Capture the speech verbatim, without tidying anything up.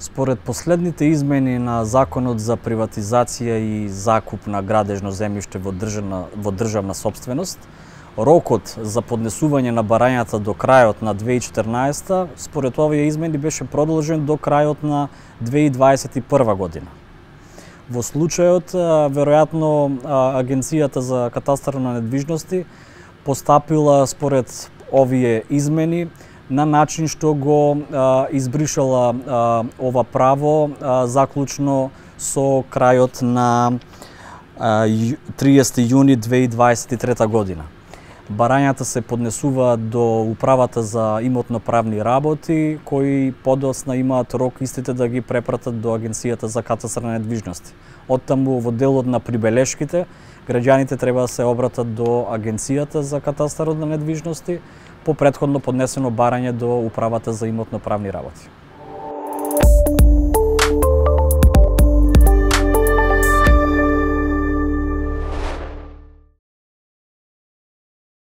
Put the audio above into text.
Според последните измени на Законот за приватизација и закуп на градежно земјиште во државна, во државна сопственост, рокот за поднесување на барањата до крајот на две илјади и четрнаесета, според овие измени беше продолжен до крајот на две илјади дваесет и прва година. Во случајот, веројатно, Агенцијата за катастар на недвижности постапила според овие измени на начин што го а, избришала а, ова право а, заклучно со крајот на а, триесети јуни две илјади дваесет и трета година. Барањата се поднесуваат до Управата за имотно-правни работи, кои подоцна имаат рок истите да ги препратат до Агенцијата за катастар на недвижности. Оттаму во делот на прибелешките, граѓаните треба да се обратат до Агенцијата за катастарот на недвижности по претходно поднесено барање до Управата за имотно-правни работи.